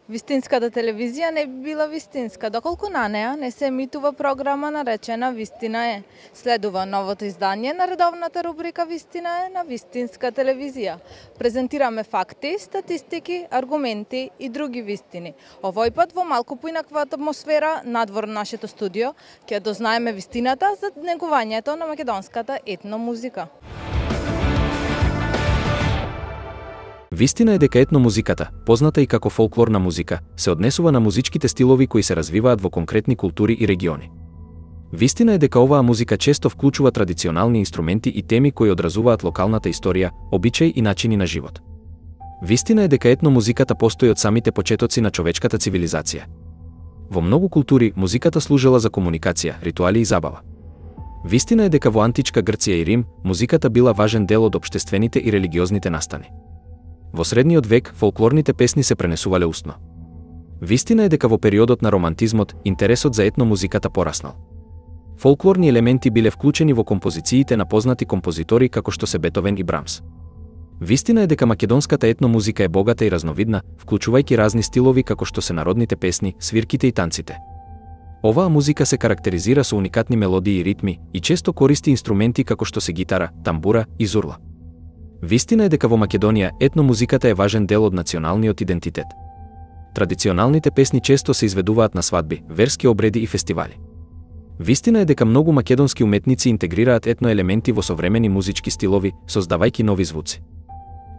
Вистинската телевизија не би била вистинска, доколку на неа не се емитува програма наречена Вистина е. Следува новото издание на редовната рубрика Вистина е на Вистинска телевизија. Презентираме факти, статистики, аргументи и други вистини. Овој пат во малку поинаква атмосфера надвор нашето студио, ќе дознаеме вистината за негувањето на македонската етномузика. Вистина е дека етномузиката, позната и како фолклорна музика, се однесува на музичките стилови кои се развиваат во конкретни култури и региони. Вистина е дека оваа музика често вклучува традиционални инструменти и теми кои одразуваат локалната историја, обичаи и начини на живот. Вистина е дека етномузиката постои од самите почетоци на човечката цивилизација. Во многу култури музиката служела за комуникација, ритуали и забава. Вистина е дека во античка Грција и Рим музиката била важен дел од општествените и религиозните настани. Во средниот век фолклорните песни се пренесувале устно. Вистина е дека во периодот на романтизмот интересот за етномузиката пораснал. Фолклорни елементи биле вклучени во композициите на познати композитори како што се Бетовен и Брамс. Вистина е дека македонската етномузика е богата и разновидна, вклучувајќи разни стилови како што се народните песни, свирките и танците. Оваа музика се карактеризира со уникатни мелодии и ритми и често користи инструменти како што се гитара, тамбура и зурла. Вистина е дека во Македонија етномузиката е важен дел од националниот идентитет. Традиционалните песни често се изведуваат на свадби, верски обреди и фестивали. Вистина е дека многу македонски уметници интегрираат етноелементи во современи музички стилови, создавајќи нови звуци.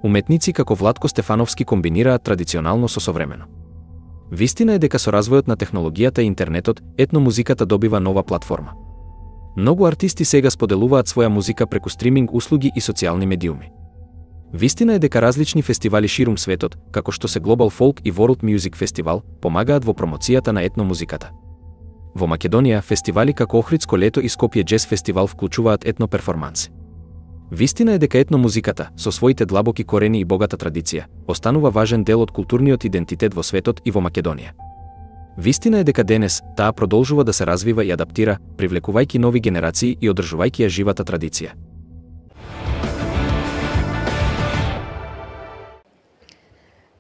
Уметници како Владко Стефановски комбинираат традиционално со современо. Вистина е дека со развојот на технологијата и интернетот, етномузиката добива нова платформа. Многу артисти сега споделуваат своја музика преку стриминг услуги и социјални медиуми. Вистина е дека различни фестивали ширум светот, како што се Global Folk и World Music Festival, помагаат во промоцијата на етномузиката. Во Македонија, фестивали како Охридско лето и Скопје Джез фестивал вклучуваат етноперформанси. Вистина е дека етномузиката, со своите длабоки корени и богата традиција, останува важен дел од културниот идентитет во светот и во Македонија. Вистина е дека денес таа продолжува да се развива и адаптира, привлекувајќи нови генерации и одржувајќи ја живата традиција.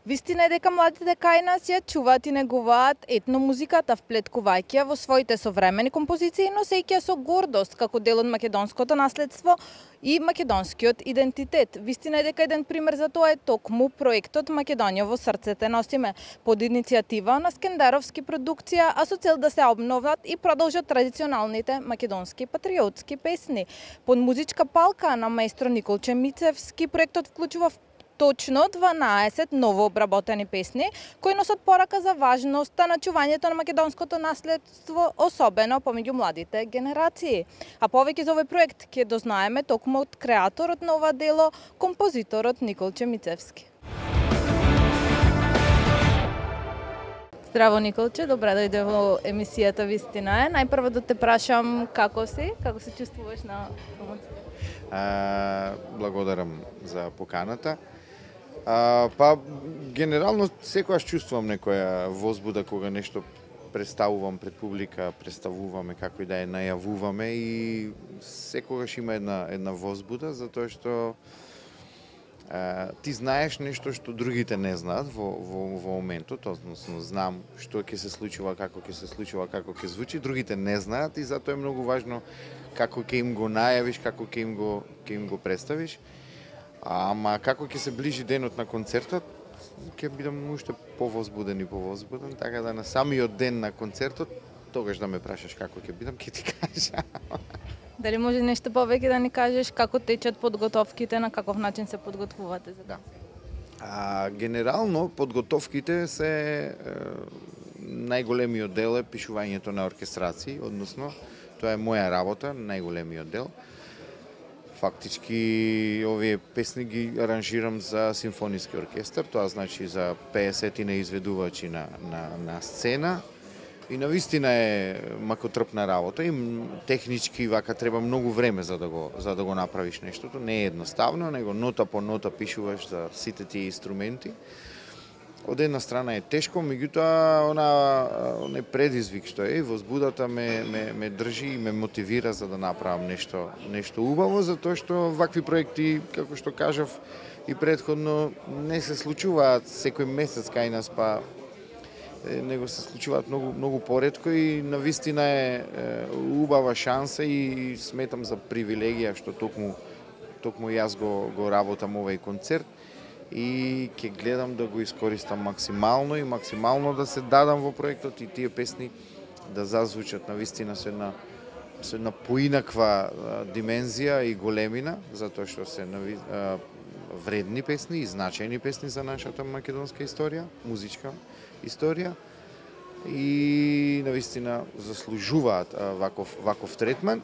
Вистина е дека младите кај нас ја чуваат и негуваат етномузиката, вплеткувајќи ја во своите современи композиции, носејќи ја со гордост како дел од македонското наследство и македонскиот идентитет. Вистина е дека еден пример за тоа е токму проектот Македонија во срцете носиме, под иницијатива на Скендеровски продукција, а со цел да се обноват и продолжат традиционалните македонски патриотски песни. Под музичка палка на маестро Николче Мицевски проектот вклучува точно 12 ново обработени песни, кои носат порака за важноста на чувањето на македонското наследство, особено помеѓу младите генерации. А повеќе за овој проект ќе дознаеме токму од креаторот на ова дело, композиторот Николче Мицевски. Здраво, Николче, добре дојде во емисијата Вистина е. Најпрво да те прашам како си, како се чувствуваш на промоција? Благодарам за поканата. Генерално секогаш чувствувам некоја возбуда кога нешто представувам пред публика, представуваме како и да ја најавуваме и секогаш има една возбуда затоа што ти знаеш нешто што другите не знаат во моментот, односно знам што ќе се случува, како ќе звучи, другите не знаат и затоа е многу важно како ќе им го најавиш, како ќе им го представиш. Ама како ќе се ближи денот на концертот, ќе бидам уште повозбуден, така да на самиот ден на концертот, тогаш да ме прашаш како ќе бидам, ќе ти кажа. Дали може нешто повеќе да ни кажеш како течат подготовките, на каков начин се подготвувате за тоа? Генерално подготовките се најголемиот дел е пишувањето на оркестрации, односно тоа е моја работа, најголемиот дел. Фактички овие песни ги аранжирам за симфониски оркестар, тоа значи за 50 изведувачи на сцена и навистина е макотрпна работа и технички вака треба многу време за да го направиш нештото, не е едноставно, него нота по нота пишуваш за сите тие инструменти. Од една страна е тешко, меѓутоа онај предизвик што е, возбудата ме држи и ме мотивира за да направам нешто убаво, затоа што вакви проекти, како што кажав и претходно, не се случуваат секој месец кај нас, па него се случуваат многу поретко и навистина е убава шанса и сметам за привилегија што токму јас го работам овој концерт и ќе гледам да го искористам максимално и максимално да се дадам во проектот и тие песни да зазвучат навистина со една поинаква димензија и големина, затоа што се вредни песни и значајни песни за нашата македонска историја, музичка историја и навистина заслужуваат ваков третман.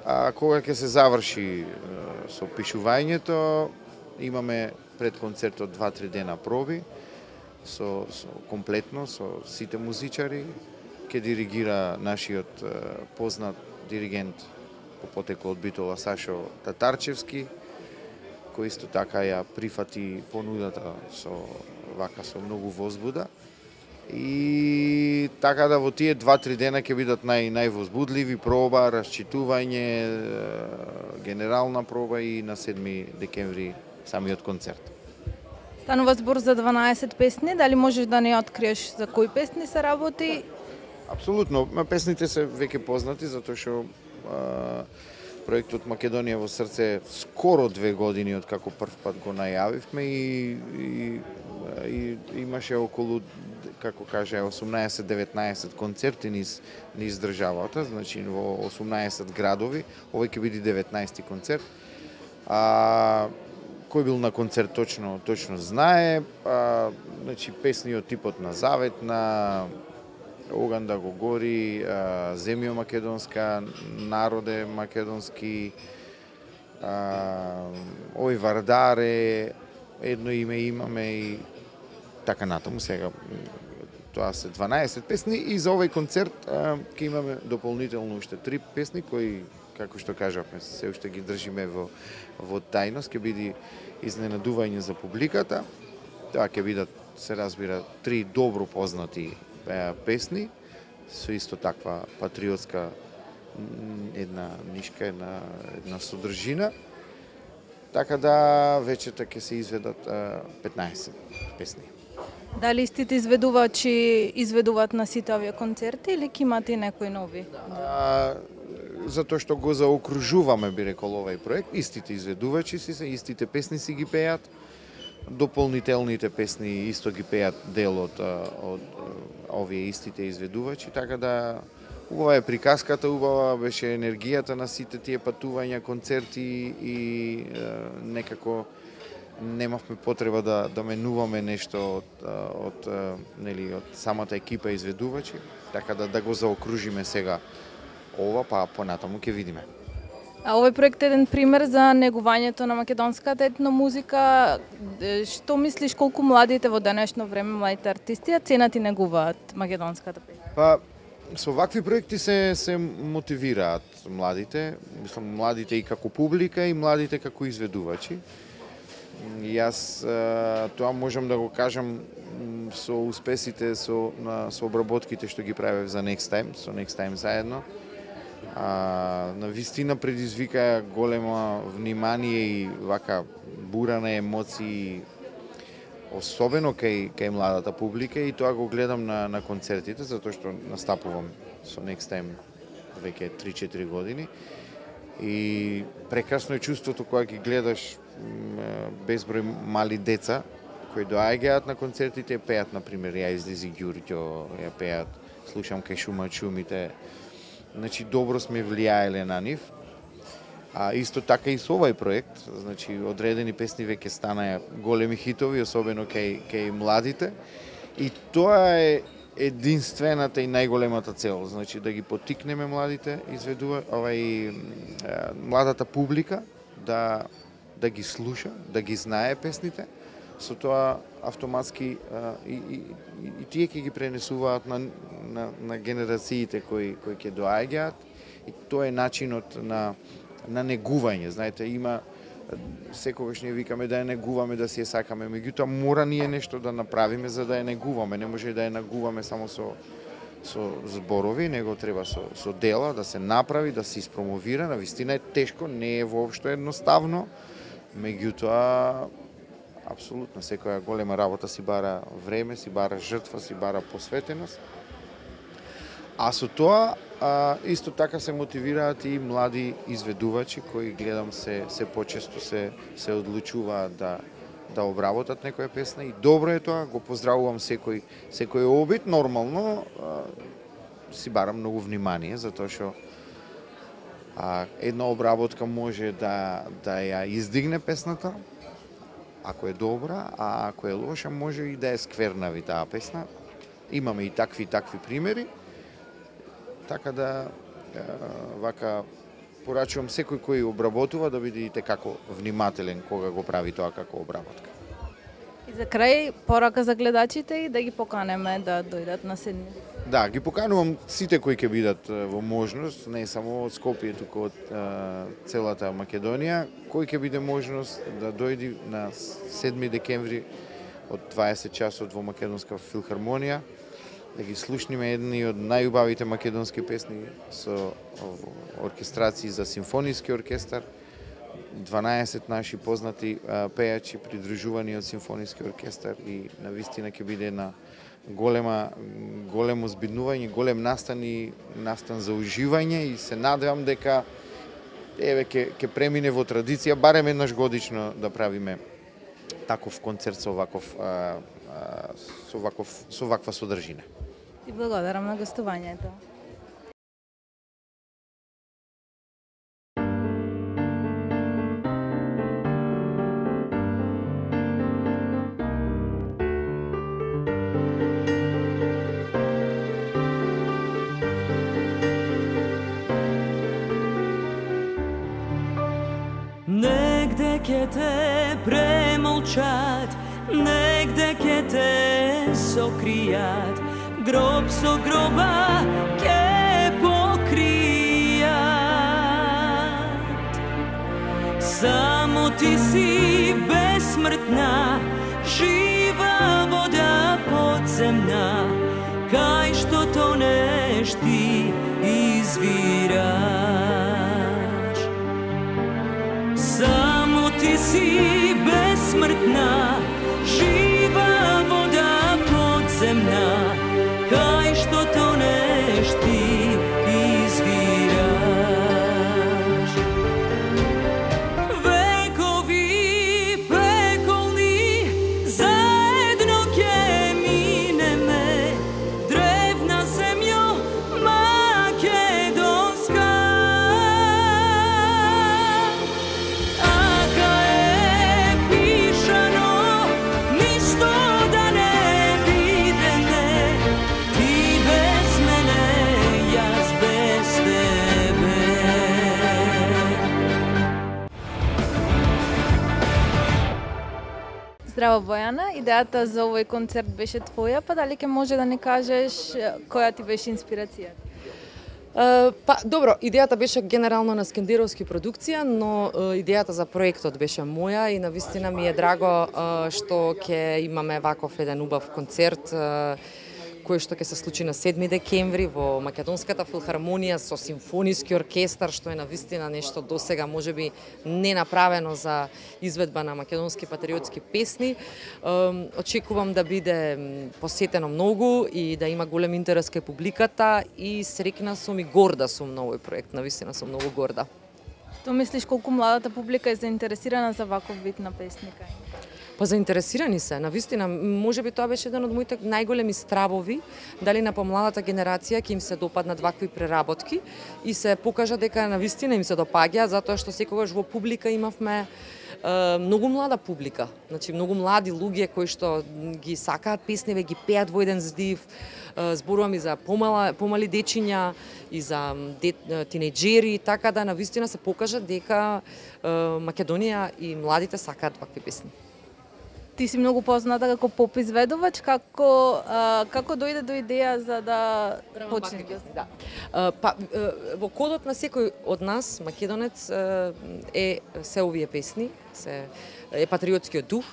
А кога ќе се заврши со пишувањето, имаме пред концертот 2-3 дена проби со комплетно со сите музичари. Ќе диригира нашиот познат диригент по потекло од Битола Сашо Татарчевски, кој исто така ја прифати понудата со многу возбуда. И така да во тие 2-3 дена ќе бидат највозбудливи, проба, расчитување, генерална проба и на 7 декември самиот концерт. Станува збор за 12 песни, дали можеш да не откриеш за кои песни се работи? Апсолутно, песните се веќе познати затоа што проектот Македонија во срце скоро 2 години од како прв пат го најавивме и имаше околу, како каже, 18-19 концерти низ државата, значи во 18 градови, овој ќе биде 19 концерт. Кој бил на концерт точно знае, значи песни од типот на Завет, на Оган да го гори, Земјо македонска, Народе македонски, Ој Вардаре, едно име имаме и така натаму. Сега тоа се 12 песни и за овој концерт ќе имаме дополнително уште 3 песни кои, како што кажавме, се уште ги држиме во тајност, ќе биде изненадување за публиката. Тоа ќе бидат, се разбира, 3 добро познати песни со исто таква патриотска една нишка, една содржина. Така да вечерта ќе се изведат 15 песни. Дали истите изведувачи изведуваат на сите овие концерти или ќе имате и некои нови? Затоа што го заокружуваме, би рекол, овој проект, истите изведувачи се, истите песни си ги пеат, дополнителните песни исто ги пеат дел од овие истите изведувачи, така да убава е приказката, убава беше енергијата на сите тие патувања, концерти и некако немавме потреба да менуваме нешто од самата екипа изведувачи, така да го заокружиме сега ова, па понатаму ќе видиме. А овој проект е еден пример за негувањето на македонската етномузика. Што мислиш, колку младите во денешно време, младите артисти, ценат и негуваат македонската песна? Па, со вакви проекти се мотивираат младите, мислам младите и како публика и младите како изведувачи. И јас тоа можам да го кажам со успесите, со обработките што ги правев за Next Time, со Next Time заедно. Навистина предизвика голема внимание и вака бура на емоции, особено кај младата публика, и тоа го гледам на концертите, затоа што настапувам со Next Time веќе 3-4 години. И прекрасно е чувството кога ги гледаш безброј мали деца кои доаѓаат на концертите, пеат, например, Ја излези Ѓурѓо, ја пеат Слушам кај шумат шумите. Значи, добро сме влијаеле на нив. Исто така и со овој проект, значи, одредени песни веќе станаа големи хитови, особено кај младите. И тоа е единствената и најголемата цел, значи да ги поттикнеме младите, младата публика да ги слуша, да ги знае песните. Со тоа автоматски и тие ќе ги пренесуваат на генерациите кои ќе доаѓаат. И тоа е начинот на негување. Знаете, има секогаш ние викаме да ја негуваме, да си ја сакаме, меѓутоа мора ние нешто да направиме за да ја негуваме. Не може да ја негуваме само со зборови, него треба со дела да се направи, да се испромовира. Навистина е тешко, не е воопшто едноставно, меѓутоа апсолутно, секоја голема работа си бара време, си бара жртва, си бара посветеност. А со тоа, исто така се мотивираат и млади изведувачи кои гледам се почесто се одлучуваат да обработат некоја песна и добро е тоа, го поздравувам секој обид, нормално си бара многу внимание, затоа што една обработка може да ја издигне песната, ако е добра, а ако е лоша може и да ја сквернави таа песна. Имаме и такви примери. Така да, вака, порачувам секој кој обработува да биде и како внимателен кога го прави тоа како обработка. И за крај, порака за гледачите и да ги поканеме да дојдат на седмица. Да, ги поканувам сите кои ќе бидат во можност, не само од Скопје, туку од целата Македонија, кој ќе биде можност да дојди на 7 декември од 20 часот во Македонска филхармонија, да ги слушниме едни од најубавите македонски песни со оркестрации за симфониски оркестар, 12 наши познати пејачи придружувани од симфониски оркестар и навистина ќе биде една големо збиднување, голем настан за уживање и се надевам дека ќе премине во традиција барем еднаш годично да правиме таков концерт со ваква содржина. И благодарам на гостувањето. Негде ќе те премолчат, негде ќе те сокријат, гроб со гроба ќе покријат. Само ти си бесмртна, жива вода подземна, кај што тонеш ти извираш. Само ти си бесмртна, жива вода подземна, кај што тонеш ти извираш. Векови пеколни заедно ќе минеме, древна земјо македонска. Така е пишано, ништо да не видеме, ти без мене, јас без тебе. Здраво, Бојана, идејата за овој концерт беше твоја, па дали ќе може да ни кажеш која ти беше инспирацијата? Па, добро, идејата беше генерално на Скендеровски продукција, но идејата за проектот беше моја и навистина ми е драго што ќе имаме ваков еден убав концерт кој што ќе се случи на 7 декември во Македонската филхармонија со симфониски оркестар, што е навистина нешто досега можеби не направено за изведба на македонски патриотски песни. Очекувам да биде посетено многу и да има голем интерес кај публиката и среќна сум и горда сум на овој проект, навистина сум многу горда. Што мислиш колку младата публика е заинтересирана за ваков вид на песника? Па заинтересирани се, навистина, можеби тоа беше еден од моите најголеми стравови, дали на помладата генерација ќе им се допаднат вакви преработки и се покажа дека навистина им се допаѓа, затоа што секогаш во публика имавме многу млада публика, значи многу млади луѓе кои што ги сакаат песниве, ги пеат во еден здив. Зборувам и за помали дечиња и за тинејџери, така да навистина се покажа дека Македонија и младите сакаат вакви песни. Ти си многу позната како поп изведувач, како дојде до идеја за да почнеш? Да. Па во кодот на секој од нас, македонец, е се овие песни, е патриотскиот дух.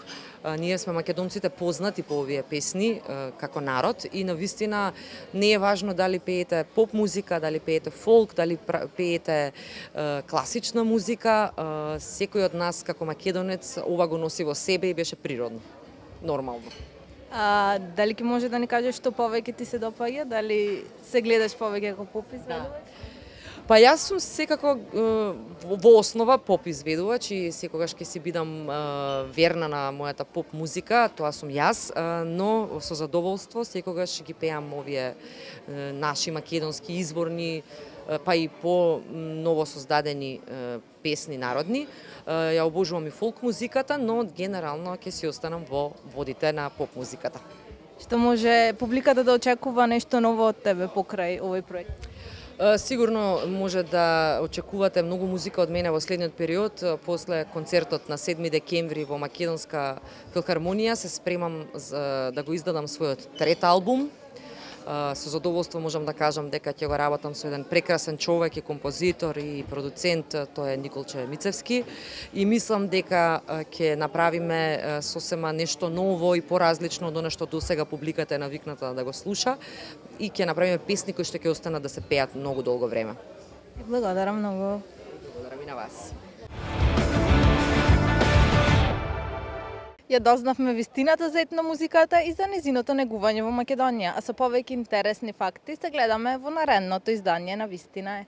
Ние сме македонците познати по овие песни како народ и навистина не е важно дали пеете поп музика, дали пеете фолк, дали пеете класична музика, секој од нас како македонец ова го носи во себе и беше природно, нормално. Дали ќе може да ни кажеш што повеќе ти се допаѓа? Дали се гледаш повеќе како поп изведувач? Па јас сум секако во основа поп изведувач и секогаш ќе си бидам верна на мојата поп музика, тоа сум јас, но со задоволство секогаш ги пеам овие наши македонски изворни, па и по ново создадени песни народни. Ја обожувам и фолк музиката, но генерално ќе си останам во водите на поп музиката. Што може публиката да очекува нешто ново од тебе покрај овој проект? Сигурно може да очекувате многу музика од мене во следниот период. После концертот на 7 декември во Македонска филхармонија се спремам да го издадам својот трет албум. Со задоволство можам да кажам дека ќе го работам со еден прекрасен човек и композитор и продуцент, тој е Николче Мицевски, и мислам дека ќе направиме сосема нешто ново и поразлично од она што досега публиката е навикната да го слуша, и ќе направиме песни кои што ќе останат да се пеат многу долго време. Благодарам многу. Благодарам и на вас. Ја дознавме вистината за етномузиката и за незиното негување во Македонија, а со повеќе интересни факти се гледаме во наредното издание на Вистина е.